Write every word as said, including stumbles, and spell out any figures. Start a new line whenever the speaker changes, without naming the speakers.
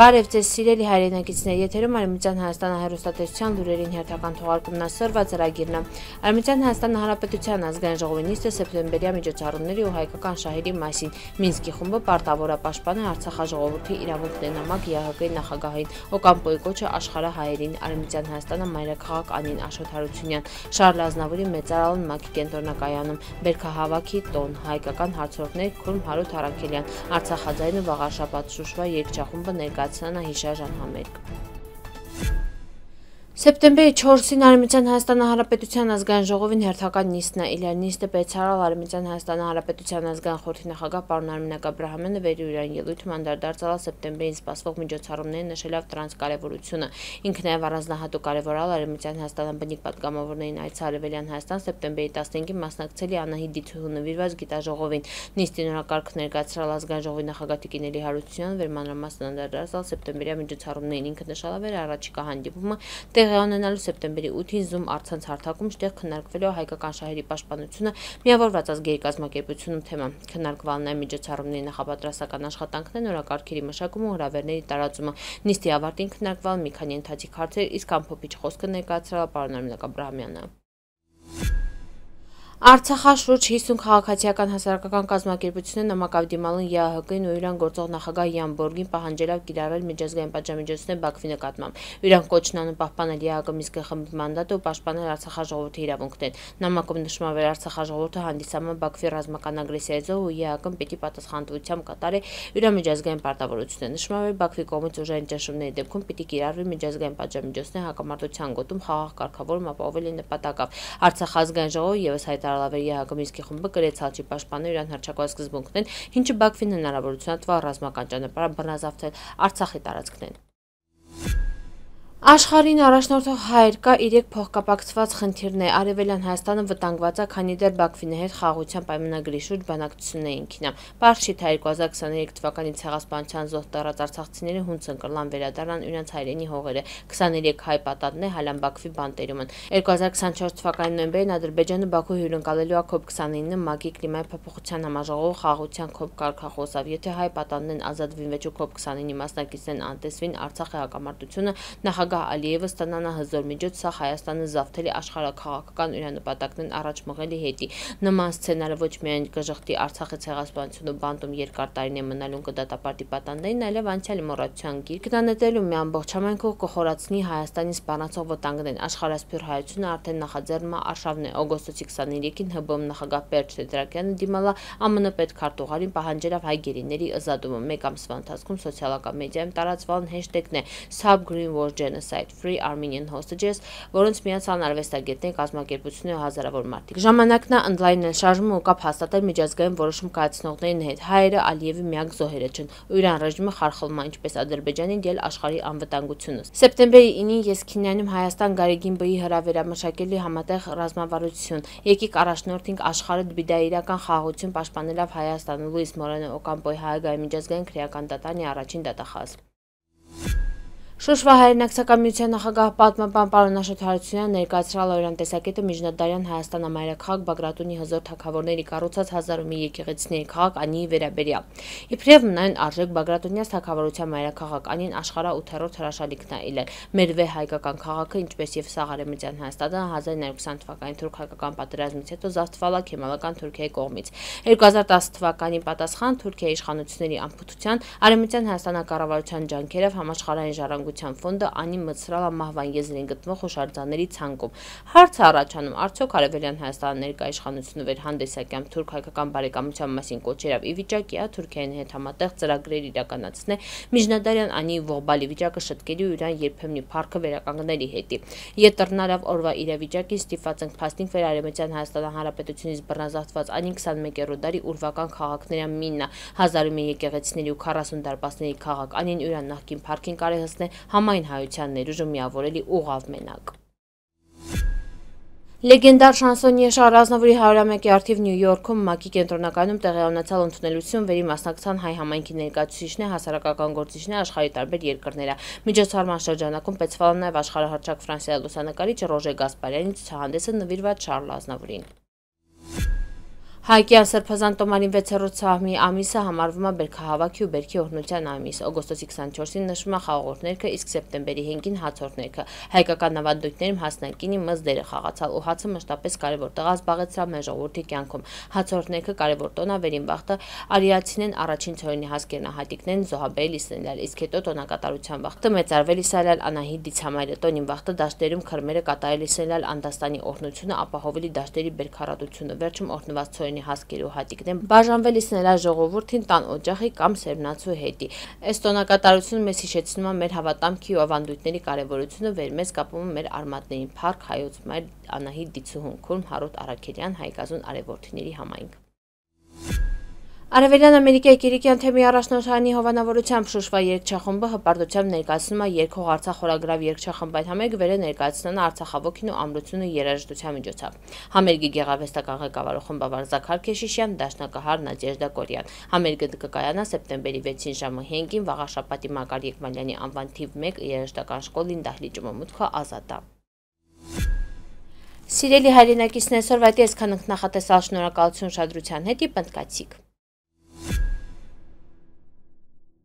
Բարև ձեզ սիրելի հայրենակիցներ, եթերում Արևմտյան Հայաստանի հեռուստատեսության լուրերին հերթական թողարկումն ասրված ծրագիրն է։ Արևմտյան Հայաստանի Հանրապետության ազգային ժողովի նիստը սեպտեմբերյա միջոցառումների ու հայկական շահերի մասին Մինսկի խումբը պարտավորապաշտպան է Արցախաժողովրդի իրավունքներն նամակ ԵԱՀԿ-ի նախագահային Օկամպոյի կոչը աշխարհահայերին Արևմտյան Հայաստանը մայրաքաղաք Անին Աշոտ Հարությունյան, Շարլ Ազնավուրի մեծարան ՄԱԿ-ի կենտրոնակայանում, Բերքահավաքի տոն, հայկական հարցորդներ Քուրմ Հարութ Արաքելյան, Արցախաձայնը Վաղարշապատ Շուշվա երգչախումբը ներկայացնան հիշաժան համերգ։ Սեպտեմբերի չորսին Արևմտյան Հայաստանի Հանրապետության ազգային ժողովին հերթական նիստն է իլեր նիստը բեցարալ Արևմտյան Հայաստանի Հանրապետության ազգային խորհրդի նախագահ պարոն Արմինակ Աբրահամյանը վերյուրան ելույթում անդրադարձել սեպտեմբերին սպասվող միջոցառումներին նշելով դրանց կարևորությունը։ Ինքը նաև առանձնահատուկ կարևորալ Արևմտյան Հայաստանի բնիկ պատգամավորներին այցը Արևելյան Հայաստան սեպտեմբերի տասնհինգին մասնակցելի Անահիտ Դիթուհու նվիրված գիտաժողովին։ Նիստի նորակարգ ներկայացրել ազգային ժողովի նախագահ Տիկին Էլի Հարությունյանը վերմանրամասն անդրադարձալ սեպտեմբերյա միջոցառումներին։ Ինքը նշելով էր առաջիկա հանդիպումը տեղի ունենալու սեպտեմբերի ութին Zoom առցանց հարթակում շտեղ քննարկվելու հայկական շահերի պաշտպանությունը միավորված ազգերի կազմակերպությունում թեման։ Քննարկվան նաև միջոցառումների նախապատրաստական աշխատանքներն, օրակարգերի մշակումը ու հրավերների տարածումը։ Նիստի ավարտին քննարկվել մի քանի ընթացիկ հարցեր, իսկ ամփոփիչ խոսքը ներկայացրել պարոն Արմինակ Աբրահամյանը։ Արցախաշուրջ հիսուն քաղաքացիական հասարակական կազմակերպությունները նամակով դիմալն ԵԱՀԿ-ին ու իրան գործող նախագահ Յան Բորգին պահանջելով կիրառել միջազգային պատժամիջոցներ Բաքվի նկատմամբ։ Իրան կոչն անում պահպանել ԵԱՀԿ Մինսկի խմբի մանդատը ու պաշտպանել Արցախաժողովրդի իրավունքներ։ Նամակում նշվում է Արցախաժողովրդը հանդիսանում Բաքվի ռազմական ագրեսիայի զոհ ու ԵԱՀԿ-ն պետք է պատասխանատվությամբ կատարի իր միջազգային պարտավորությունները։ Նշվում է Բաքվի կողմից ուժային ճնշումների դեպքում պետք է կիրառվի միջազգային պատժամիջոցներ հակամարտության գոտում խաղաղ կարգավորում ապահովելու նպատակով։ Արցախ ազգային ժողովը ևս հայտարարել ԵԱՀԿ Մինսկի խումբը կրեց հալչի պաշտպանել իրան հռչակված սկզբունքներն, ինչը Բաքվին հնարավորություն է տվել ռազմական ճանապարհ բռնազավթել Արցախի տարածքներն։ Աշխարհին առաջնորդող հայր կա իրեք փոխկապակցված խնդիրներ։ Արևելյան Հայաստանը վտանգված է, քանի դեռ Բաքվի հետ խաղաղության պայմանագրի շուրջ բանակցություններին քինա։ Պարզ չի, թե երկու հազար քսաներեք թվականի ցեղասպանության զոհ տառած արցախցիները հունց ընկրլան վերադառնան իրենց հայրենի հողերը։ քսաներեք հայ պատանդներ հալան Բաքվի բանտերում են։ երկու հազար քսանչորս թվականի նոյեմբերին Ադրբեջանը Բաքու հյուրընկալելու է քոփ քսանինը ՄԱԿ-ի կլիմայի փոփոխության համաժողովը խաղաղության քոփ կարգախոսով։ Եթե հայ պատանդներն ազատվին վեճու քոփ քսանինի մասնակիցներն անտեսվին Արցախի հակամարտությունը, նախագահ Ալիևը ստանանա հզոր միջոց սա Հայաստանը զավթելի աշխարհաքաղաքական իր նպատակներն առաջ մղելի հետի։ Նման սցենարը ոչ միայն կժղթի Արցախի ցեղասպանությունը բանտում երկար տարիներ մնալուն կդատապարտի պատանդներին, այլև անցյալի մոռացության գիրք կդանետելու մի ամբողջ համայնքով կխորացնի Հայաստանի սպառնացող վտանգներն։ Աշխարհասփյուր հայությունը արդեն նախաձեռնում է արշավն է օգոստոսի քսաներեքին ՀԲ նախագահ Պերճ Տետրակյանը դիմալա ԱՄՆ պետքարտուղարին պահանջելով հայ գերիների ազատումը։ Մեկ ամսվա ընթացքում սոցիալական մեդիայում տարածվան հեշթեգն է Stop Green War Genocide Free Armenian Hostages, որոնց միացան արվեստագետներ, կազմակերպություններ ու հազարավոր մարդիկ։ Ժամանակն է ընդլայնել շարժումը ու կապ հաստատել միջազգային որոշում կայացնողների հետ։ Հայերը Ալիևի միակ զոհերը չեն, ու Իրան ռեժիմը խարխլում է ինչպես Ադրբեջանի, դել աշխարհի անվտանգությունը։ Սեպտեմբերի ինին ես Քինյանում Հայաստան Գարեգին Բ-ի հրավերամշակելի համատեղ ռազմավարություն։ Եկեք առաջնորդենք աշխարհը դբիդա իրական խաղաղություն պաշտպանելով Հայաստանը։ Լուիս Մորենո Օկամպոյի հայագահի միջազգային քրեական դատարանի առաջին դատախազ։ Շուշվա հայրենակցական միության նախագահ պատմաբան պարոն Աշոտ Հարությունյանը ներկայացրել օրյան տեսակետը միջնադարյան Հայաստան ամայրաքաղաք Բագրատունի հզոր թագավորների կառուցած հազար ու մի եկեղեցիների քաղաք Անիի վերաբերյալ։ Իբրև նույն արժեք Բագրատունյաց թագավորության մայրաքաղաք Անին աշխարհաութերորդ հրաշալիքն է իլել։ Մեր վե հայկական քաղաքը, ինչպես եւ սաղ Արևմտյան Հայաստանը հազար նոյ հարյուր քսան թվականի թուրք-հայկական պատերազմից հետո զավթվել է Քեմալական Թուրքիայի կողմից։ երկու հազար տասը թվականի պատասխան Թուրքիայի իշխանությունների անփութության Արևմտյան Հայաստանի կառավարության ջանքերով համաշխարհային ժառանգության ֆոնդը Անի մտցրալ է մահվան եզրին գտնվող հուշարձանների ցանկում։ Հարցը առաջանում, արդյոք Արևելյան Հայաստանի ներկայ իշխանությունը վերհանդեսակյամ թուրք-հայկական բարեկամության մասին կոչերով ի վիճակի է Թուրքիայի հետ համատեղ ծրագրեր իրականացնել միջնադարյան Անիի ողբալի վիճակը շտկելի ու իրան երբեմնի փառքը վերականգնելի հետի։ Ետրնարավ օրվա իրավիճակին ստիպված ենք փաստինք վեր Արևմտյան Հայաստանի Հանրապետությունից բռնազավթված Անին քսանմեկերորդ դարի ուրվական քաղաքների միննա հազար ու մի եկեղեցիների ու քառասուն դարպասների քաղաք Անին իրան նախկին փառքին կարողացնել համայն հայության ներուժը միավորելի ուղղավ մենակ։ Լեգենդար շանսոնիե Շարլ Ազնավուրի հարյուրամյակի առթիվ Նյու Յորքում ՄԱԿ-ի կենտրոնակայանում տեղի ունեցած ընդունելություն, վերի մասնակցան հայ համայնքի ներկայացուցիչներ, հասարակական գործիչներ աշխարհի տարբեր երկրները։ Միջոցառման շրջանակում պետսվալ նաև աշխարհահռչակ Ֆրանսիայի լուսանկարիչ Ռոժե Գասպարյանի ցուցահանդեսը նվիրված Շարլ Ազնավուրին։ Հայկյան սրբազան տոմարին վեցերորդ սահմի ամիսը համարվում է բերքահավաքի ու բերքի օրհնության ամիս։ Օգոստոսի քսաներկուսին նշվում է խաղողորդ ներքը, իսկ սեպտեմբերի հինգին հացորդ ներքը։ Հայկական ավանդույթներում հասնակինի մզ դերը խաղացալ ու հացը մշտապես կարևոր տեղ զբաղեցրավ մեր ժողովրդի կյանքում։ Հացորդ ներքը կարևոր տոն է, վերին վախտը արիացին առաջին ցորենի հասկերնահատիկներն զոհաբերել Իսրայել, իսկ հետո տոնակատարության վախտը մեծարվել Իսրայել Անահիտ դիցամայրը տոնին վախտը դաշտերում քրմերը կատարել Իսրայել Անդաստանի օրհնությունը ապահովելի դաշտերի բերքարատությունը վերջում օրհնված ցորենի հասկերու հատիկն են բաժանվել Իսրայել ժողովրդին տան օջախի կամ սերմնացու հետի։ Այս տոնակատարությունը մեզ հիշեցնում է մեր հավատամքի ու ավանդույթների կարևորությունը, վեր մեզ կապում է մեր արմատներին փառք հայոց մայր Անահիտ դիցուհուն Քուրմ Հարոտ Արաքելյան հայկազուն արևորդիների համայնք։ Արևելյան Ամերիկայի Կիրիկյան թեմի առաջնորդարանի հովանավորությամբ Շուշվա երգչախումբը հպարտությամբ ներկայացնում է երկհող Արցախ խորագրավ երգչախմբային համերգը վերը ներկայացնան Արցախավոքին ու ամրությունը երաժշտության միջոցով։ Համերգի գեղարվեստական ղեկավարող խմբավար Զաքար Քեշիշյան, դաշնակահար Նադեժդա Կորյան։ Համերգը կկայանա սեպտեմբերի վեցին ժամը հինգին Վաղաշապատի Մակար Եկմալյանի անվան թիվ մեկ երաժշտական շկոլին դահլիճը մուտքը ազատ է։ Սիրելի հայրենակիցներ, այսօրվա այսքան ենք նախատեսալ, շնորհակալություն ուշադրության հետ, պնդկացիք։